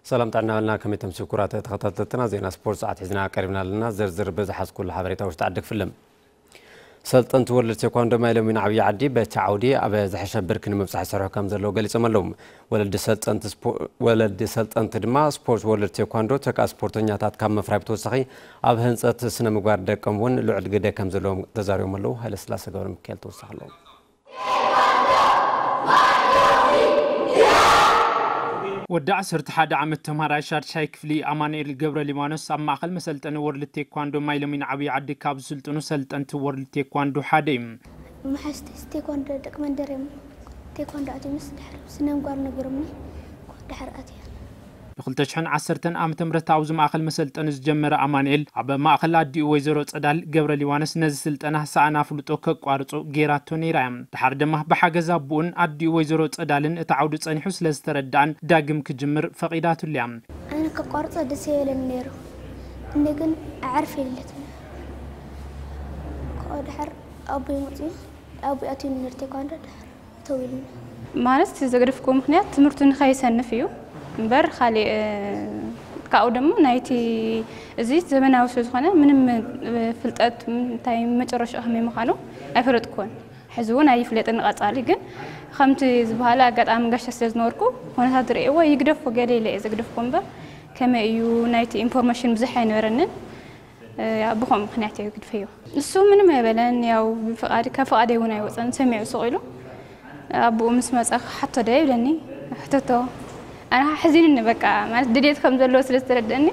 ሰላም ጥዕና በልና። ከመይ ተምሲ ኩራት ተኸታተልትና፣ ዜና ስፖርት ሰዓት ሒዝና ቀሪብና ኣለና። ዝርዝር ብዝሓዝኩሉ ሓበሬታ ውሽጢ ዓዲ ክፍልም። ሰልጠንቲ ወርልድ ቴኳንዶ ማይ ሎሚን ዓብዪ ዓዲ በቲ ዓውዲ ኣብ ዝሐሸ ብርኪ ንምብጻሕ ይሰርሑ ከም ዘለዉ ገሊጾም ኣለዉ። ወለዲ ሰልጠንቲ ስፖ-፣ ወለዲ ሰልጠንቲ ድማ ስፖርት ወርልድ ቴኳንዶ ተካ ስፖርተኛታት ካብ ምፍራይ ብተወሳኺ ኣብ ህንጸት ስነ ምግባር ደቆም እውን ልዑል ግደ ከም ዘለዎም ተዛሪቦም ኣለዉ። ሃይለስላሴ ገብረ ሚካኤል ተወሳኺ ኣለዎ። ወዲ ዓሰርተ ሓደ ዓመት ተምሃራይ ሻድሻይ ክፍሊ ኣማኑኤል ገብረ ሊባኖስ ኣብ ማእኸል መሰልጠኒ ወርልድ ቴኳንዶ ማይ ሎሚን ዓብዪ ዓዲ ካብ ዝስልጥኑ ሰልጠንቲ ወርልድ ቴኳንዶ ሓደ እዩ። መሓዝቲ ቴኳንዶ ደቂ መንደር እዮም። ቴኳንዶ ኣትዩ ምስ ድሕር ስነ ምግባር ነጊሮምኒ ድሕር ኣትየ። ብ ክልተ ሽሕን ዓሰርተን ዓመተ ምህረት ኣብዚ ማእኸል መሰልጠኒ ዝጀመረ ኣማኑኤል ኣብ ማእኸል ኣዲኡ ወይዘሮ ጸዳል ገብረ ሊባኖስ ነዚ ስልጠና ሰኣን ኣፍልጦ ከቋርጾ ገይራቶ ነይራ እያ። ድሓር ድማ ብሓገዝ ኣቦኡን ኣዲኡ ወይዘሮ ጸዳልን እቲ ዓውዲ ጸኒሑ ስለ ዝተረድኣን ዳግም ክጅምር ፈቒዳትሉ እያ። ኣነ ከቋርጾ ደስ ይበለኒ ነይሩ፣ እነ ግን ኣዕርፍ የለት። ካብኡ ድሓር ኣቦይ መፅዩ፣ ኣቦይ ኣትዩ ነይሩ ቴኳንዶ ድሓር እተው ኢሉኒ። ማለት እቲ ዘግደፍኩዎ ምኽንያት ትምህርቱ ንኸይሰንፍ እዩ እምበር ካሊእ ካብኡ ደሞ ናይቲ እዚ ዘመናዊ ስለ ዝኾነ ምንም ፍልጠት እንታይ መጨረሻ ከመይ ምዃኑ ኣይፈለጥኩዎን። ሕዚ እውን ኣይፍለጥን። ንቐጻሊ ግን ከምቲ ዝበሃለ ኣጋጣሚ ጋሻ ስለ ዝነበርኩ ኩነታት ርእየዎ ይግደፎ ገለ ኢለ እየ ዘግደፍኩ እምበር ከመይ እዩ ናይቲ ኢንፎርሜሽን ብዙሕ ኣይነበረንን። ብኸምኡ ምኽንያት እየ ግድፈዮ። እሱ ምንም ኣይበለን። ያው ብፍቓድ ካብ ፍቓደይ እውን ኣይወፀን። ሰሚዑ ስቕ ኢሉ ኣቦኡ ምስ መፀ ክሓቶ ዶ ይብለኒ። ሕተቶ ኣነ ኣሕዚንኒ በቃ ማለት ድሌት ከም ዘለዎ ስለ ዝተረደእኒ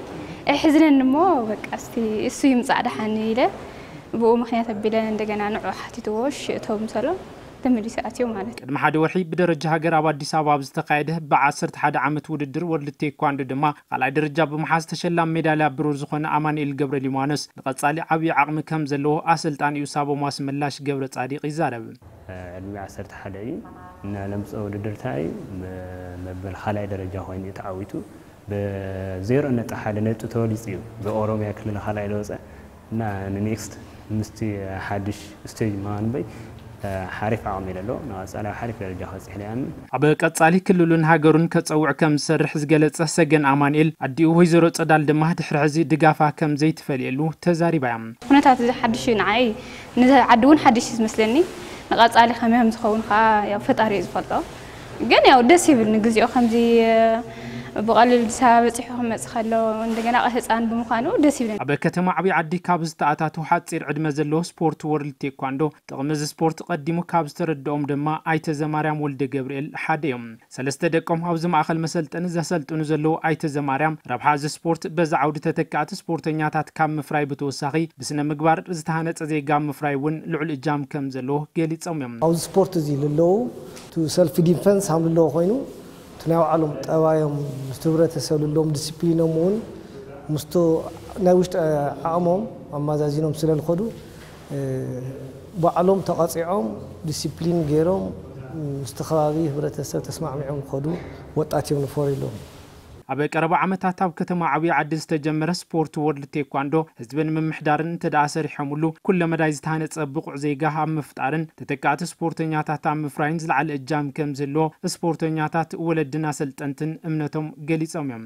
ኣሕዝነኒ እሞ በቃ እስቲ እሱ ይምፃእ ደሓን ኢለ ብኡ ምኽንያት ኣቢለ እንደገና ንዑ ሓቲትዎ እሺ እቶ ምሰሎ ተመሊሱ ኣትዮ ማለት እዩ። ቅድሚ ሓደ ወርሒ ብደረጃ ሃገር ኣብ ኣዲስ ኣበባ ኣብ ዝተኻየደ ብዓሰርተ ሓደ ዓመት ውድድር ወርልድ ቴኳንዶ ድማ ካልኣይ ደረጃ ብምሓዝ ተሸላሚ ሜዳልያ ብሩር ዝኾነ ኣማኑኤል ገብረ ሊባኖስ ንቐፃሊ ዓብዪ ዓቕሚ ከም ዘለዎ ኣሰልጣኒኡ ሳቦም ኣስመላሽ ገብረ ፃዲቕ ይዛረብ። ዕድሚኡ ዓሰርተ ሓደ እዩ እና ለምፅኦ ውድድር እንታይ እዩ መበል ካልኣይ ደረጃ ኮይኑ እዩ ተዓዊቱ። ብዜሮ ነጥቢ ሓደ ነጥቢ ተበሊፁ እዩ ብኦሮሚያ ክልል ካልኣይ ዝወፀ እና ንኔክስት ምስቲ ሓድሽ ስቴጅ ምዃኑ በይ ሓሪፍ ዓቕሚ እዩ ዘለዎ ንቐፃሊ ኣብ ሓሪፍ ደረጃ ክበፅሕ ኢለ ይኣምን። ኣብ ቀፃሊ ክልሉን ሃገሩን ከፀውዕ ከም ዝሰርሕ ዝገለፀ ሰገን ኣማኑኤል ኣዲኡ ወይዘሮ ፀዳል ድማ ድሕሪ ሕዚ ድጋፋ ከም ዘይትፈልየሉ ተዛሪባ እያ። ኩነታት እዚ ሓድሽ እዩ ንዓይ ንዓዲ እውን ሓድሽ እዩ ዝመስለኒ። ንቐፃሊ ከመይ ከም ዝኸውን ከዓ ያው ፈጣሪ እዩ ዝፈልጦ። ግን ያው ደስ ይብል ንግዚኡ ከምዚ ብቐሊል ኣዲስ ኣበባ በፂሑ ክመፅእ ከሎ እንደገና ህፃን ብምዃኑ ደስ ይብለኒ። ኣብ ከተማ ዓብዪ ዓዲ ካብ ዝተኣታተዉ ሓፂር ዕድመ ዘለዎ ስፖርት ወርልድ ቴኳንዶ ጥቕሚ እዚ ስፖርት ቀዲሙ ካብ ዝተረድኦም ድማ ኣይተ ዘማርያም ወልደ ገብርኤል ሓደ እዮም። ሰለስተ ደቆም ኣብዚ ማእኸል መሰልጠኒ ዘሰልጥኑ ዘለዉ ኣይተ ዘማርያም ረብሓ እዚ ስፖርት በዚ ዓውዲ ተተካእቲ ስፖርተኛታት ካብ ምፍራይ ብተወሳኺ ብስነ ምግባር ዝተሃነፀ ዜጋ ምፍራይ እውን ልዑል እጃም ከም ዘለዎ ገሊፆም እዮም። ኣብዚ ስፖርት እዚ ልለዉ እቲ ሰልፍ ዲፈንስ ሃም ልለዎ ኮይኑ እቲ ናይ ባዕሎም ጠባዮም ምስቲ ህብረተሰብ ልለዎም ዲስፕሊኖም እውን ምስቲ ናይ ውሽጢ ዓቕሞም ኣማዛዚኖም ስለ ልኸዱ ባዕሎም ተቐፂዖም ዲሲፕሊን ገይሮም ምስቲ ከባቢ ህብረተሰብ ተስማዕሚዖም ዝኸዱ ወጣት እዮም ንፈርዩ ኣለዉ። ኣብ ቀረባ ዓመታት ኣብ ከተማ ዓብዪ ዓዲ ዝተጀመረ ስፖርት ወርልድ ቴኳንዶ ህዝቢ ንምምሕዳርን እንተደኣ ሰሪሖምሉ ኩለመዳይ ዝተሃነፀ ብቑዕ ዜጋ ኣብ ምፍጣርን ተተካእቲ ስፖርተኛታት ኣብ ምፍራይን ዝለዓለ እጃም ከም ዝህልዎ ስፖርተኛታት፣ ወለድን ኣሰልጠንትን እምነቶም ገሊፆም እዮም።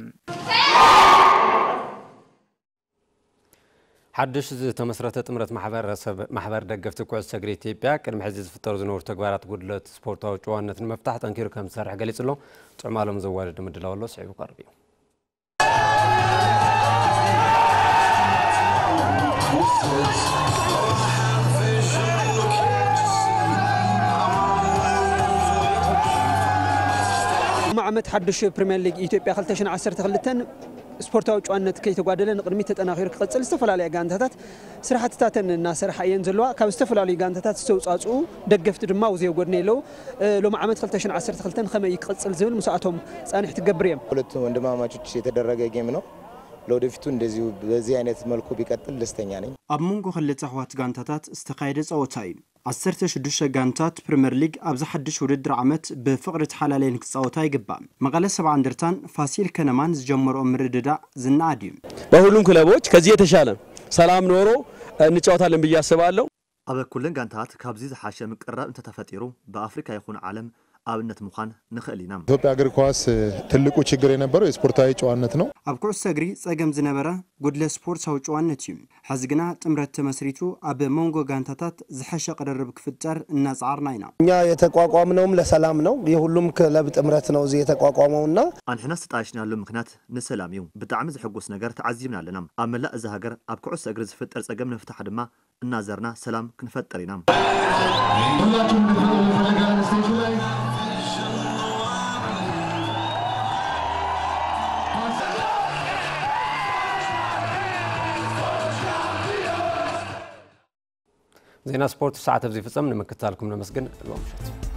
ሓድሽ ዝተመስረተ ጥምረት ማሕበረሰብ ማሕበር ደገፍቲ ኩዕሶ እግሪ ኢትዮጵያ ቅድሚ ሕዚ ዝፍጠሩ ዝነበሩ ተግባራት ጉድለት ስፖርታዊ ጭዋነት ንምፍታሕ ጠንኪሩ ከም ዝሰርሕ ገሊጹ ኣሎ። ጥዑም ኣሎም ዘዋደደ ምድላው ኣሎ፣ ስዒቡ ክቐርብ እዩ። ዓመት ሓድሽ ፕሪምየር ሊግ ኢትዮጵያ ክልተ ሽሕን ዓሰርተ ክልተን ስፖርታዊ ጭዋነት ከይተጓደለ ንቕድሚት ተጠናኺሩ ክቕፅል ዝተፈላለዩ ጋንታታት ስራሕትታተን እናሰርሓ እየን ዘለዋ። ካብ ዝተፈላለዩ ጋንታታት ዝተውፃፅኡ ደገፍቲ ድማ ኣብኡ ዘየጎድነ የለው። ሎሚ ዓመት ክልተ ሽሕን ዓሰርተ ክልተን ከመይ ክቕፅል ዝብል ምስኣቶም ፃንሒት ክገብር እየ። ሁለቱም ወንድማማቾች የተደረገ ጌም ነው። ለወደፊቱ እንደዚሁ በዚህ አይነት መልኩ ቢቀጥል ደስተኛ ነኝ። ኣብ መንጎ ክልተ ኣሕዋት ጋንታታት ዝተኻየደ ፀወታ እዩ። ዓሰርተ ሽዱሽተ ጋንታት ፕሪምየር ሊግ ኣብዚ ሓድሽ ውድድር ዓመት ብፍቕሪ ተሓላለየን ክፃወታ ይግባእ። መቐለ ሰብዓ እንደርታን ፋሲል ከነማን ዝጀመርኦ ምርድዳእ ዝነኣድ እዩ። በሁሉም ክለቦች ከዚህ የተሻለ ሰላም ኖሮ እንጫወታለን ብዬ አስባለሁ። ኣብ ኩለን ጋንታት ካብዚ ዝሓሸ ምቅርራብ እንተተፈጢሩ ብኣፍሪካ ይኹን ዓለም ኣብነት ምዃን ንኽእል ኢና። ኢትዮጵያ እግር ኳስ ትልቁ ችግር የነበረው የስፖርታዊ ጨዋነት ነው። ኣብ ኩዕሶ እግሪ ጸገም ዝነበረ ጉድለት ስፖርታዊ ጨዋነት እዩ። ሕዚ ግና ጥምረት ተመስሪቱ ኣብ መንጎ ጋንታታት ዝሐሸ ቅርርብ ክፍጠር እናጸዓርና ኢና። እኛ የተቋቋምነውም ለሰላም ነው። የሁሉም ክለብ ጥምረት ነው እዚህ የተቋቋመውና ኣንሕና ዝተጣየሽናሉ ምኽንያት ንሰላም እዩ። ብጣዕሚ ዝሕጉስ ነገር ተዓዚብና ኣለና። ኣብ መላእ እዛ ሃገር ኣብ ኩዕሶ እግሪ ዝፍጠር ጸገም ንምፍታሕ ድማ እናዘርና ሰላም ክንፈጥር ኢና። ሁላችሁም እንድትመጡ እንፈልጋለን። ስቴጁ ላይ ዜና ስፖርት ሰዓት ኣብዚ ፍጸም። ንምክትታልኩም ነመስግን። ሎም ምሸት